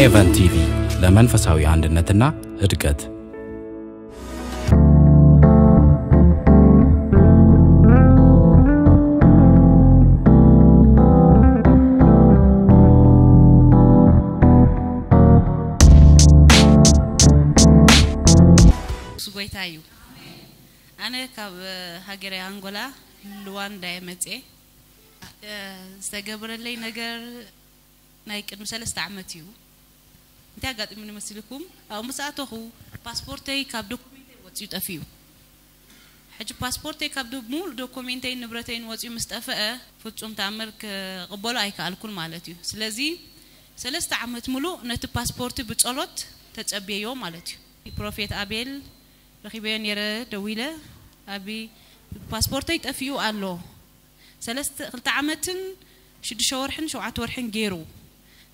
ሄቨን ቲቪ፣ ለመንፈሳዊ አንድነትና እድገት። ንሱ ጎይታ እዩ። ኣነ ካብ ሃገረ ኣንጎላ፣ ሉዋንዳ እየ መፅኤ። ዝተገብረለይ ነገር ናይ ቅድሚ ሰለስተ ዓመት እዩ። እንታይ ኣጋጢሙኒ መሲልኩም? ኣብኡ ምስ ኣተኹ፣ ፓስፖርተይ ካብ ዶኩሜንተይ ወፂኡ ጠፊኡ። ሕጂ ፓስፖርተይ ካብ ዶ-፣ ሙሉእ ዶኩሜንተይን ንብረተይን ወፂኡ ምስ ጠፈአ፣ ፍፁም ተኣምር ክቕበሎ ኣይከኣልኩን ማለት እዩ። ስለዚ ሰለስተ ዓመት ሙሉእ ነቲ ፓስፖርቲ ብጸሎት ተጸብየዮ ማለት እዩ። ፕሮፌት ኣቤል ረኺበዮ ነይረ፣ ደዊለ፣ "ኣቢ፣ ፓስፖርተይ ጠፊኡ ኣሎ። ሰለስተ፣ ክልተ ዓመትን ሽዱሽተ ወርሕን ሸውዓተ ወርሕን ገይሩ።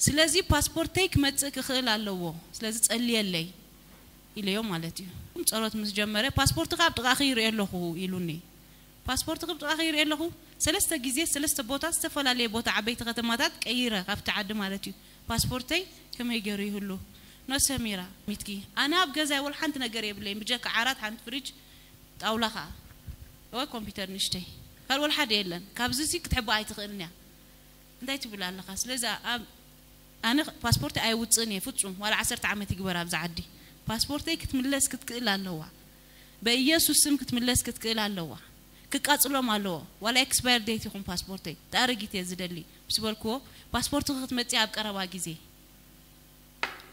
ስለዚ ፓስፖርተይ ክመጽእ ክኽእል ኣለዎ። ስለዚ ጸልየለይ" ኢለዮ ማለት እዩ። ጸሎት ምስ ጀመረ፣ "ፓስፖርትኻ ኣብ ጥቓኺ ይርኢ ኣለኹ" ኢሉኒ። ፓስፖርትኺ ኣብ ጥቓኺ ይርኢ ኣለኹ። ሰለስተ ግዜ፣ ሰለስተ ቦታ፣ ዝተፈላለየ ቦታ፣ ዓበይቲ ከተማታት ቀይረ፣ ካብቲ ዓዲ ማለት እዩ። ፓስፖርተይ ከመይ ገይሩ ይህሉ? ኖ ሰሚራ፣ ሚትኪ። ኣነ ኣብ ገዛይ ወላ ሓንቲ ነገር የብለይን፣ ብጀካ ዓራት፣ ሓንቲ ፍሪጅ፣ ጣውላ ኸዓ። ወይ ኮምፒውተር ንእሽተይ። ካልእ ወላ ሓደ የለን። ካብዚ ሲ ክትሕባእ ኣይትኽእልን እያ። እንታይ ትብል ኣለኻ? ስለዚ ኣብ-፣ ኣነ ፓስፖርት ኣይውፅእን እየ ፍፁም፣ ዋላ ዓሰርተ ዓመት ይግበር ኣብዚ ዓዲ። ፓስፖርተይ ክትምለስ ክትክእል ኣለዋ። በኢየሱስ ስም ክትምለስ ክትክእል ኣለዋ። ክቃፅሎም ኣለዎ። ዋላ ኤክስፓየር ዴት ይኹን ፓስፖርተይ፣ ተኣረጊት እየ ዝደሊ ምስ በልክዎ፣ "ፓስፖርትኺ ክትመፅእ ኣብ ቀረባ ግዜ፣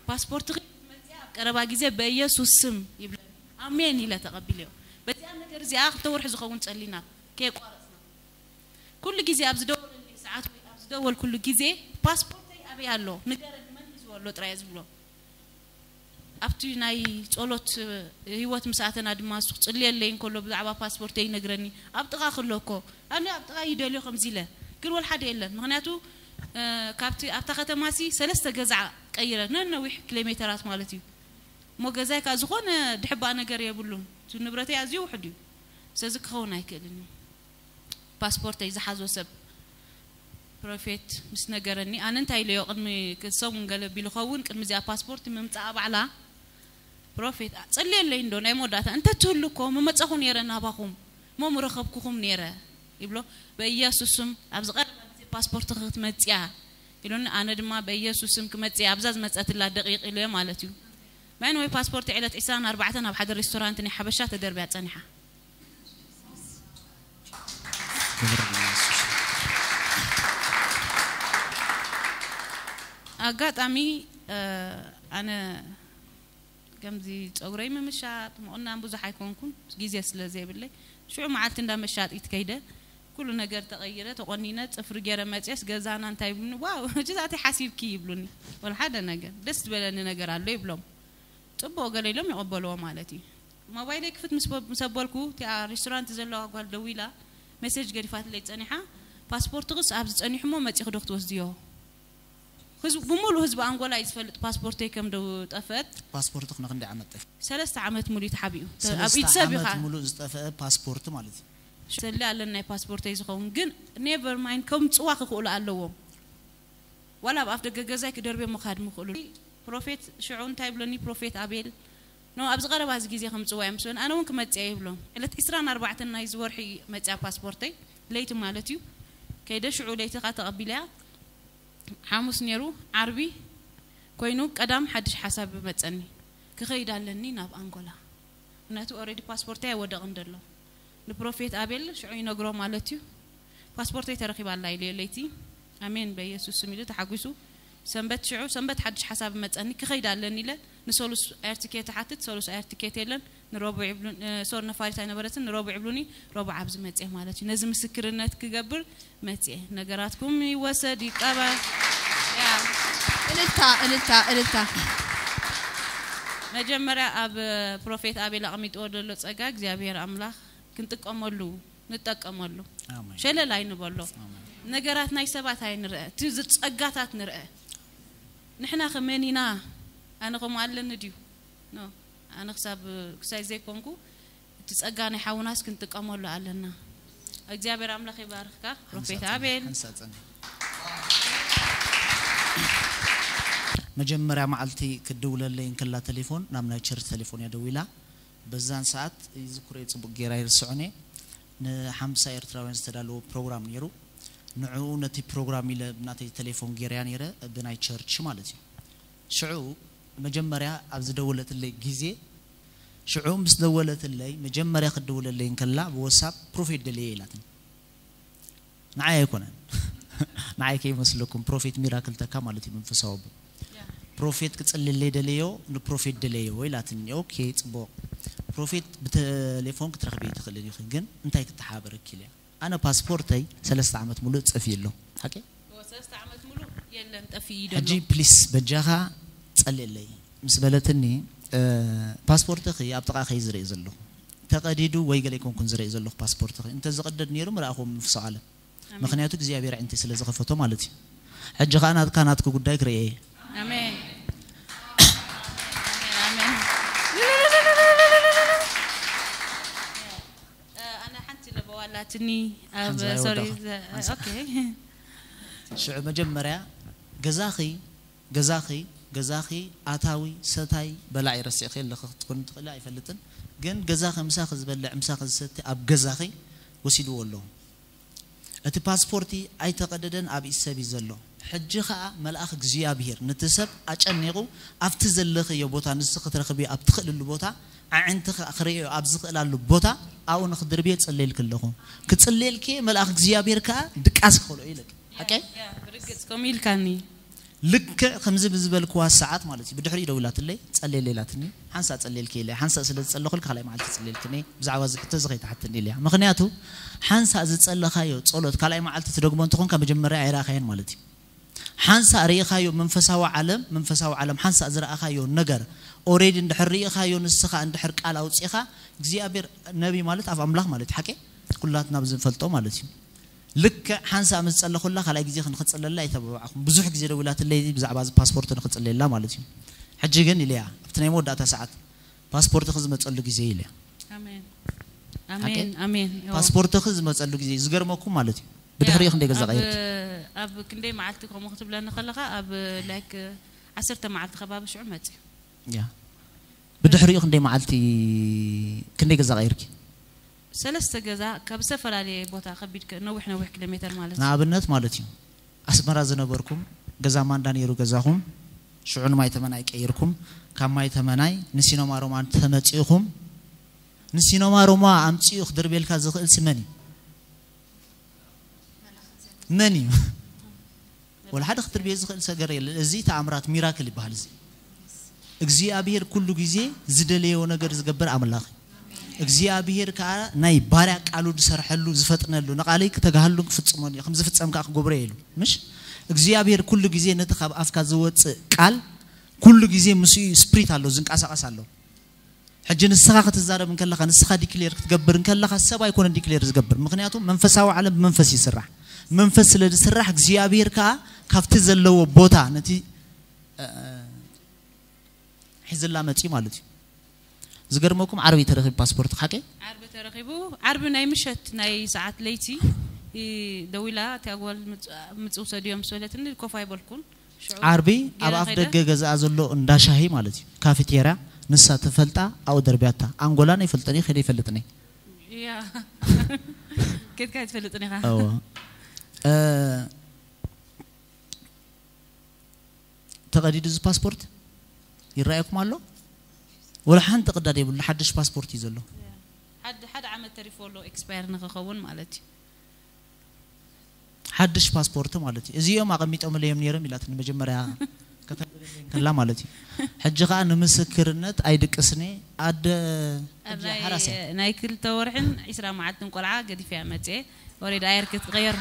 ፓስፖርትኺ ክትመፅእ ኣብ ቀረባ ግዜ በኢየሱስ ስም" ይብለኒ። ኣሜን ኢለ ተቐቢለዮ። በዚኣ ነገር እዚኣ ክልተ ወርሒ ዝኸውን ጸሊና ከየቋረጽና። ኩሉ ግዜ ኣብ ዝደወለለይ ሰዓት ወይ ኣብ ዝደወልኩሉ ግዜ፣ "ፓስፖርተይ ኣበይ ኣሎ? ንገረኒ፣ መን ሒዝዎ ኣሎ?" ጥራይ እየ ዝብሎ። ኣብቲ ናይ ጸሎት ህይወት ምስ ኣተና ድማ፣ እሱ ክጽልየለይ እንከሎ ብዛዕባ ፓስፖርተይ ይነግረኒ። "ኣብ ጥቓ ክሎ እኮ፣ ኣነ ኣብ ጥቓ ይደልዮ ከምዚ ኢለ፣ ግን ወላ ሓደ የለን። ምኽንያቱ፣ እ፣ ካብቲ፣ ኣብታ ከተማሲ ሰለስተ ገዛ ቀይረ፣ ነነዊሕ ኪሎ ሜተራት ማለት እዩ። እሞ ገዛይ ከኣ ዝኾነ ድሕባእ ነገር የብሉን። እቲ ንብረተይ ኣዝዩ ውሑድ እዩ። ስለዚ ክኸውን ኣይክእልን እዩ።" ፓስፖርተይ ዝሓዞ ሰብ ፕሮፌት ምስ ነገረኒ፣ ኣነ እንታይ ኢለዮ፣ ቅድሚ ሰሙን ገለ ቢሉ ኸውን፣ ቅድሚ እዚኣ ፓስፖርት ምምጻኣ ባዕላ፣ ፕሮፌት፣ "ጸልየለይ እንዶ ናይ መወዳእታ፣ እንተ ትህሉ እኮ ምመጻኹ ነይረ ናባኹም፣ እሞ ምረኸብኩኹም ነይረ" ይብሎ። "በኢየሱስ ስም ኣብዚ ቀረባ ግዜ ፓስፖርትኺ ክትመጽያ" ኢሉኒ። ኣነ ድማ "በኢየሱስ ስም ክመጽእ እየ፣ ኣብዛ ዝመጸትላ ደቂቕ" ኢለ ማለት እዩ። ማይን ወይ ፓስፖርት ዕለት ዕስራን ኣርባዕተን ኣብ ሓደ ሬስቶራንት ናይ ሓበሻ ተደርብያ ጸኒሓ። ክብሪ ንየሱስ። ኣጋጣሚ፣ እ፣ ኣነ ከምዚ ጸጉረይ ምምሻጥ፣ ምቑናን ብዙሕ ኣይኮንኩን፣ ግዜ ስለ ዘይብለይ። ሽዑ መዓልቲ እንዳ መሻጢት ከይደ፣ ኩሉ ነገር ተቐይረ፣ ተቖኒነ፣ ጽፍሪ ገይረ መጽየስ፣ ገዛና እንታይ ይብሉኒ፣ "ዋው፣ ሕጂ እዚኣተይ ሓሲብኪ" ይብሉኒ። ወላ ሓደ ነገር፣ "ደስ ዝበለኒ ነገር ኣሎ" ይብሎም። ጽቡቕ ገለ ኢሎም ይቕበልዎ ማለት እዩ። ሞባይለይ ክፍት ምስ በ-፣ ምስ ኣበልኩ፣ እቲኣ ሬስቶራንት ዘለዋ ጓል ደዊላ፣ ሜሴጅ ገዲፋትለይ ጸኒሓ፣ "ፓስፖርትኽስ ኣብዚ ጸኒሑ እሞ መጺኺ ዶ ክትወስድዮ?" ህዝቢ፣ ብምሉእ ህዝቢ ኣንጎላ እዩ ዝፈልጥ ፓስፖርተይ ከም ደው ጠፍአት። ፓስፖርትኽ ንኽንደይ ዓመት ጠፊኡ? ሰለስተ ዓመት ሙሉእ ተሓቢኡ። ተ-፣ ኣብ ሰለስተ ኢድ ሰብ ኢኻ። ዓመት ሙሉእ ዝጠፍአ ፓስፖርት ማለት እዩ። ሰሊ ኣለኒ ናይ ፓስፖርተይ ዝኸውን፣ ግን ኔቨር ማይንድ፣ ከምጽዋ ክኽእሉ ኣለዎም። ዋላ ኣብ ኣፍ ደገ ገዛይ ክደርብዮ ምኻድ ምኽእሉ። ፕሮፌት ሽዑ እንታይ ይብለኒ፣ ፕሮፌት ኣቤል፣ "ኖ፣ ኣብዚ ቀረባ እዚ ግዜ ከምጽዋ እዮም" ምስ በለኒ፣ ኣነ እውን ክመጽእ እየ ይብሎም። ዕለት ዕስራን ኣርባዕተን ናይዚ ወርሒ መጽያ ፓስፖርተይ፣ ለይቲ ማለት እዩ። ከይደ ሽዑ ለይቲ ኸኣ ተቐቢለያ። ሓሙስ ነይሩ፣ ዓርቢ ኮይኑ ቀዳም ሓድሽ ሓሳብ መጸኒ። ክኸይድ ኣለኒ ናብ ኣንጎላ። ምክንያቱ ኦልሬዲ ፓስፖርተይ ኣይወደቕን ዘሎ። ንፕሮፌት ኣቤል ሽዑ ይነግሮ ማለት እዩ። "ፓስፖርተይ ተረኺባ ኣላ" ኢለዮ ለይቲ። "ኣሜን፣ በኢየሱስ ስም" ኢሉ ተሓጒሱ። ሰንበት ሽዑ፣ ሰንበት ሓድሽ ሓሳብ መጸኒ፣ ክኸይድ ኣለኒ ኢለ ንሰሉስ ኤር ቲኬት እሓትት፣ ሰሉስ ኤር ቲኬት የለን። ንረቡዕ ይብሉን፣ እ፣ ሶሪ፣ ነፋሪት ኣይነበረትን፣ ንረቡዕ ይብሉኒ፣ ረቡዕ ኣብዚ መጽየ ማለት እዩ። ነዚ ምስክርነት ክገብር መጽየ። ነገራትኩም ይወሰድ፣ ይቀበር። ያ። እልልታ፣ እልልታ፣ እልልታ። መጀመርያ ኣብ ፕሮፌት ኣቤል ኣቕሚጥዎ ዘሎ ጸጋ እግዚኣብሔር ኣምላኽ ክንጥቀመሉ፣ ንጠቀመሉ። ኣሜን። ሸለል ኣይንበሎ። ኣሜን። ነገራት ናይ ሰባት ኣይንርአ፣ እቲ ዝ-፣ ጸጋታት ንርአ። ንሕና ከመን ኢና? ኣነ ከምኡ ኣለኒ ድዩ? ኖ። ኣነ ክሳብ፣ ክሳይ ዘይኮንኩ፣ እቲ ጸጋ ናይ ሓውናስ ክንጥቀመሉ ኣለና። እግዚኣብሔር ኣምላኽ ይባርኽካ፣ ፕሮፌት ሓንሳእ ጸንሒ፣ ኣቤል። ሓንሳእ ጸንሒ። መጀመርያ መዓልቲ ክትድውለለይ እንከላ ቴሌፎን ናብ ናይ ቸርች ቴሌፎን እያ ደዊላ። በዛን ሰዓት ይዝክሮ እየ፣ ጽቡቕ ጌራ ይርስዖን እየ። ንሓምሳ ኤርትራውያን ዝተዳለወ ፕሮግራም ነይሩ። ንዕኡ ነቲ ፕሮግራም ኢለ ብናተይ ቴሌፎን ጌርያ ነይረ፣ ብናይ ቸርች ማለት እዩ። ሽዑ መጀመርያ ኣብ ዝደወለትለይ ግዜ፣ ሽዑ ምስ ደወለትለይ፣ መጀመርያ ክትድውለለይ እንከላ ብወሳብ ፕሮፌት ደልየ ኢላትኒ። ንዓይ ኣይኮነን። ንዓይ ከይመስለኩም፣ ፕሮፌት ሚራክል ተካ ማለት እዩ፣ መንፈሳዊ ኣቦ። ፕሮፌት ክጽልለይ ደለዮ፣ ንፕሮፌት ደለዮ ኢላትኒ። ኦኬ፣ ጽቡቕ። ፕሮፌት ብቴሌፎን ክትረኽቢ ትኽእልን ኢኺ፣ ግን እንታይ ክተሓባበረኪ ኢለያ። ኣነ ፓስፖርተይ ሰለስተ ዓመት ሙሉእ ጠፊኡ ኣሎ። ሓቂ? እዎ፣ ሰለስተ ዓመት ሙሉእ የለን፣ ጠፊኡ እዩ ዘሎ። ሕጂ ፕሊስ በጃኻ ጸልየለይ ምስ በለትኒ፣ እ፣ ፓስፖርትኺ ኣብ ጥቓኺ ዝርኢ ዘለኹ። ተቐዲዱ ወይ ገለ ኣይኮንኩን ዝርኢ ዘለኹ ፓስፖርትኺ። እንተ ዝቕደድ ነይሩ ምረኣኹዎ መንፈሳዊ ዓለም። ኣሜን። ምኽንያቱ እግዚኣብሔር ኣዒንተይ ስለ ዝኸፈቶ ማለት እዩ። ሕጂ ኸኣ ናትካ ናትኪ ጉዳይ ክርእየ እየ። ኣሜን። ኣሜን። ኣነ ሓንቲ ለበዋ ኣላትኒ ኣብ፣ ሓንቲ ሶሪ፣ ኣይወዳእኹ። ዘ-፣ ሓንሳእ። ኦኬ። ሽዑ መጀመርያ ገዛኺ፣ ገዛኺ፣ ገዛኺ ኣታዊ፣ ሰታይ፣ በላዒ ረሲዕኺ ኣለኺ ክትኮኒ ትኽእሊ ኣይፈልጥን። ግን ገዛኺ ምሳኺ ዝበልዕ፣ ምሳኺ ዝሰቲ ኣብ ገዛኺ ወሲድዎ ኣለዉ። እቲ ፓስፖርቲ ኣይተቐደደን፣ ኣብ ኢድ ሰብ እዩ ዘሎ። ሕጂ ኸኣ መልኣኽ እግዚኣብሄር ነቲ ሰብ ኣጨኒቑ ኣብቲ ዘለኽዮ ቦታ፣ ንስኺ ክትረኽብዮ ኣብ ትኽእልሉ ቦታ፣ ኣዒንትኺ ክርእዮ ኣብ ዝኽእላሉ ቦታ ኣብኡ ንኽድርብዮ እጽልየልኪ ኣለኹ። ክጽልየልኪ እየ፣ መልኣኽ እግዚኣብሄር ከኣ ድቃስ ክኸልኦ እዩ ኢለኪ። ሓቀይ? ያ፣ ብርግጽ ከምኡ ኢልካኒ። ልክዕ ከምዚ ብዝበልክዋ ሰዓት ማለት እዩ። ብድሕሪኡ ደዊላትለይ፣ ጸልየለይ ኢላትኒ። ሓንሳእ ጸልየልኪ ኢለ፣ ሓንሳእ ስለ ዝጸለኹልኪ ካልኣይ መዓልቲ ክጽልየልኪ እየ። ብዛዕባ እዚ ሕቶ እዚ ከይትሓትኒ ኢለያ። ምኽንያቱ ሓንሳእ ዝጸለኻዮ ጸሎት ካልኣይ መዓልቲ ትደግሞ እንተኾንካ መጀመርያ ኣይረኣኻዮን ማለት እዩ። ሓንሳእ ርኢኻዮ መንፈሳዊ ዓለም፣ መንፈሳዊ ዓለም ሓንሳእ ዝረኣኻዮ ነገር ኦሬዲ እንድሕር ርኢኻዮ፣ ንስኻ እንድሕር ቃል ኣውጺኻ፣ እግዚኣብሔር ነቢ ማለት ኣብ ኣምላኽ ማለት እዩ። ሓቂ? ኩላትና ብዝንፈልጦ ማለት እዩ። ልክዕ ሓንሳእ ምስ ጸለኹላ ካልኣይ ግዜ ክንክጽለላ ኣይተባባዕኹም። ብዙሕ ግዜ ደዊላትለይ ብዛዕባ እዚ ፓስፖርት ንክጽለየላ ማለት እዩ። ሕጂ ግን ኢለያ ኣብቲ ናይ መወዳእታ ሰዓት ፓስፖርትኺ ዝመጸሉ ግዜ ኢለያ። ኣሜን። ሓቂ? ኣሜን፣ ኣሜን። እዎ። ፓስፖርትኺ ዝመጸሉ ግዜ ዝገርመኩም ማለት እዩ። ብድሕሪኡ ያ፣ ክንደይ ገዛ ኣብ፣ ቀይርኪ? ኣብ ክንደይ መዓልቲ ከምኡ ክትብለኒ ከለኻ ኣብ ላይክ ዓሰርተ መዓልቲ ከባቢ ሽዑ መጽዩ። ያ። ብድሕሪኡ ክንደይ መዓልቲ፣ ክንደይ ገዛ ቀይርኪ? ሰለስተ ገዛ ካብ ዝተፈላለየ ቦታ ከቢድ ከ-፣ ነዊሕ ነዊሕ ኪሎ ሜተር ማለት እዩ። ንኣብነት ማለት እዩ፣ ኣስመራ ዝነበርኩም ገዛ ማንዳ ነይሩ ገዛኹም፣ ሽዑ ንማይ ተመናይ ቀይርኩም፣ ካብ ማይ ተመናይ ንሲኖማ ሮማ ተመጺእኹም፣ ንሲኖማ ሮማ ኣምጺኡ ክድርቤልካ ዝኽእል ሲ መን እዩ? መን እዩ? ወላ ሓደ ክትርብዮ ዝኽእል ሰገር የለን። እዚ ተኣምራት ሚራክል ይበሃል። እዚ እግዚኣብሔር ኩሉ ግዜ ዝደለዮ ነገር ዝገብር ኣምላኽ እዩ። እግዚኣብሔር ከኣ ናይ ባርያ ቃሉ ዝሰርሐሉ፣ ዝፈጥነሉ፣ ንቓለይ ክተግሃሉን ክፍጽሞን እዩ፣ ከም ዝፍጸም ከኣ ክገብሮ እዩ ኢሉ። ምሽ እግዚኣብሔር ኩሉ ግዜ ነቲ ካብ ኣፍካ ዝወጽእ ቃል ኩሉ ግዜ ምስኡ እዩ፣ ስፕሪት ኣሎ፣ ዝንቀሳቐስ ኣሎ። ሕጂ ንስኻ ክትዛረብ እንከለኻ፣ ንስኻ ዲክሌር ክትገብር እንከለኻ፣ ሰብ ኣይኮነን ዲክሌር ዝገብር። ምኽንያቱ መንፈሳዊ ዓለም ብመንፈስ ይስራሕ። መንፈስ ስለ ዝስራሕ እግዚኣብሔር ከኣ ካብቲ ዘለዎ ቦታ ነቲ፣ እ፣ ሒዝላ መጺኡ ማለት እዩ። ዝገርመኩም ዓርቢ ተረኺቡ ፓስፖርት ሓቂ? ዓርቢ ተረኺቡ፣ ዓርቢ ናይ ምሸት ናይ ሰዓት ለይቲ፣ እ፣ ደዊላ እቲኣ ጓል ምጽ-፣ ምጽ ውሰድዮ ምስ በለትኒ ኮፍ ኣይበልኩን። ሽዑ ዓርቢ ኣብ ጌና ኣፍ ከይደ። ደገ ገዛኣ ዘሎ እንዳ ሻሂ ማለት እዩ፣ ካፌቴርያ፣ ንሳ ትፈልጣ፣ ኣብኡ ደርብያታ። ኣንጎላን ኣይፈልጥን እየ፣ ከይደ ኣይፈልጥን እየ። ያ። ኬድካ ኣይትፈልጥን ኢኻ። እወ። እ፣ ተቐዲዱ እዚ ፓስፖርት ይረኣየኩም ኣሎ? ወላ ሓንቲ ቅዳድ የብሉ፣ ሓድሽ ፓስፖርት እዩ ዘሎ። ሓደ፣ ሓደ ዓመት ተሪፎ ኣሎ ኤክስፓየር ንኽኸውን ማለት እዩ። ሓድሽ ፓስፖርት ማለት እዩ። እዚኦም ኣቐሚጦምለይ እዮም ነይሮም ኢላትኒ መጀመርያ ከተንብበለይ እንከላ ማለት እዩ። ሕጂ ኸኣ ንምስክርነት ኣይድቅስን እየ። ኣደ ሕጂ ናይ፣ ሓራስ እየ። ናይ ክልተ ወርሕን ዒስራ መዓልትን ቆልዓ ገዲፈያ መጽየ። ወሬድ ኣየር ክትቀየር።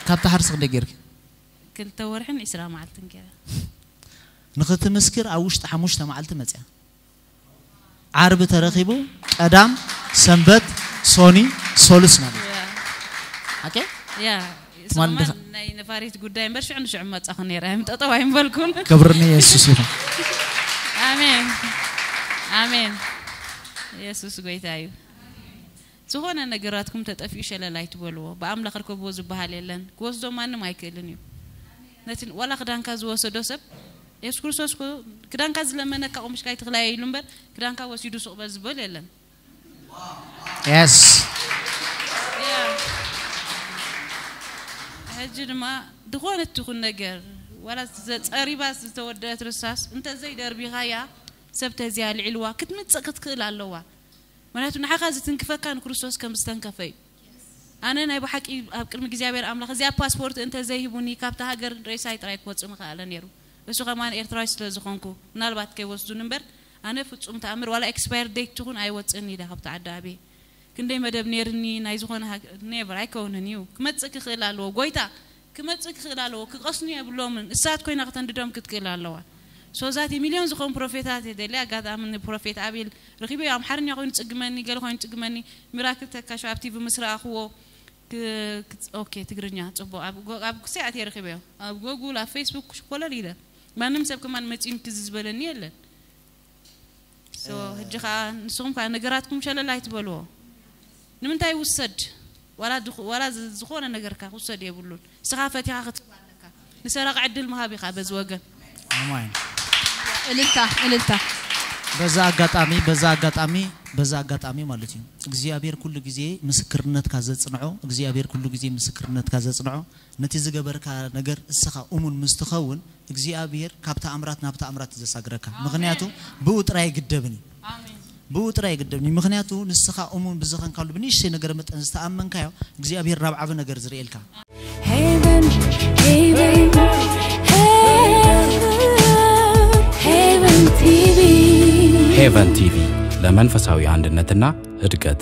ካብታ ሓርሲ ክንደይ ጌርኪ? ክልተ ወርሕን ዒስራ መዓልትን ገይረ። ንኽትምስክር ኣብ ውሽጢ ሓሙሽተ መዓልቲ መጽያ። ዓርቢ ተረኺቡ፣ ቀዳም፣ ሰንበት፣ ሶኒ፣ ሶሉስ ማለት እዩ። ያ። ሓቂ? ያ። ትማል ሰሙን እንዲኻ ናይ ነፋሪት ጉዳይ እምበር ሽዑ ንሽዑ መጻኹ ነይረ። እም ጠጠው ኣይምበልኩን። ክብሪ ንየሱስ ይኹን። ኣሜን። ኣሜን። የሱስ ጎይታ እዩ። ዝኾነ ነገራትኩም ተጠፊኡ ሸለል ኣይትበልዎ። ብኣምላኽ ርከብዎ ዝበሃል የለን። ክወስዶ ማንም ኣይክእልን እዩ። ነቲ ዋላ ክዳንካ ዝወሰዶ ሰብ፣ የሱስ ክርስቶስ እኮ ክዳንካ ዝለመነካ ቆምሽካ ኣይትኽላየ ኢሉ እምበር፣ ክዳንካ ወሲዱ ስቕ በል ዝበል የለን። Yes. ያ። ሕጂ ድማ ዝኾነት ትኹን ነገር፣ ዋላ ዘ-፣ ጸሪባ ዝተወደአት ርሳስ እንተዘይደርቢኻያ፣ ሰብ ተዚያ ልዒልዋ ክትምጽእ ክትክእል ኣለዋ። ምክንያቱ ንዓኻ ዝትንክፈካ ንክርስቶስ ከም ዝተንከፈ እዩ። ኣነ ናይ ብሓቂ ኣብ ቅድሚ እግዚኣብሔር ኣምላኽ እዚኣ ፓስፖርት እንተዘይሂቡኒ ካብታ ሃገር ሬሳይ ጥራይ ክወጽእ ምኽኣለ ነይሩ። እሱ ከማን ኤርትራዊ ስለ ዝኾንኩ ምናልባት ከይወስዱኒ እምበር ኣነ ፍጹም ተኣምር ዋላ ኤክስፓየር ዴት ትኹን ኣይወጽእን ኢለ ካብቲ ዓዲ ኣብየ። ክንደይ መደብ ነይርኒ ናይ ዝኾነ ሃገ-፣ ኔቨር ኣይከውንን እዩ። ክመጽእ ክኽእል ኣለዎ። ጎይታ ክመጽእ ክኽእል ኣለዎ። ክቐስኑ የብሎምን። እሳት ኮይና ከተንድዶም ክትክእል ኣለዋ። ሶዛቲ ሚልዮን ዝኾኑ ፕሮፌታት የደሊ። ኣጋጣሚ ንፕሮፌት ኣቤል ረኺበዮ። ኣምሓርኛ ኮይኑ ጽግመኒ፣ ገለ ኮይኑ ጽግመኒ፣ ሚራክል ተካሾ ኣብ ቲቪ ምስ ረኣኽዎ ክ-፣ ክጽ-፣ ኦኬ፣ ትግርኛ ጽቡቕ። ኣብ ጎ-፣ ኣብ ክሳይ ኣትየ ረኺበዮ። ኣብ ጎጉል፣ ኣብ ፌስቡክ ኮለል ኢለ። ማንም ሰብ ከማን መጺኡን ክዚ ዝበለኒ የለን። ሶ፣ ሕጂ ኸኣ ንስኹም ከኣ ነገራትኩም ሸለል ኣይትበልዎ። ንምንታይ ውሰድ? ዋላ ድኹ-፣ ዋላ ዝ-፣ ዝኾነ ነገርካ ክውሰድ የብሉን። ንስኻ ፈቲኻ ክትህብ ኣለካ። ንሰራቂ ዕድል ምሃብ ኢኻ በዚ ወገን። ኣሜን። እልልታ እልልታ። በዛ ኣጋጣሚ በዛ ኣጋጣሚ በዛ ኣጋጣሚ ማለት እዩ፣ እግዚኣብሔር ኩሉ ግዜ ምስክርነትካ ዘጽንዖ፣ እግዚኣብሔር ኩሉ ግዜ ምስክርነትካ ዘጽንዖ። ነቲ ዝገበርካ ነገር እስኻ እሙን ምስ ትኸውን፣ እግዚኣብሔር ካብ ተኣምራት ናብ ተኣምራት እዩ ዘሳግረካ። ምኽንያቱ ብኡ ጥራይ ኣይግደብን እዩ። ብኡ ጥራይ ኣይግደብን እዩ። ምኽንያቱ ንስኻ እሙን ብዝኸንካሉ ብንእሽተይ ነገር መጠን ዝተኣመንካዮ፣ እግዚኣብሔር ናብ ዓቢ ነገር ዝርእየልካ። Haven, Haven, Haven, Haven ቲቪ. ሄቨን ቲቪ ለመንፈሳዊ አንድነትና እድገት።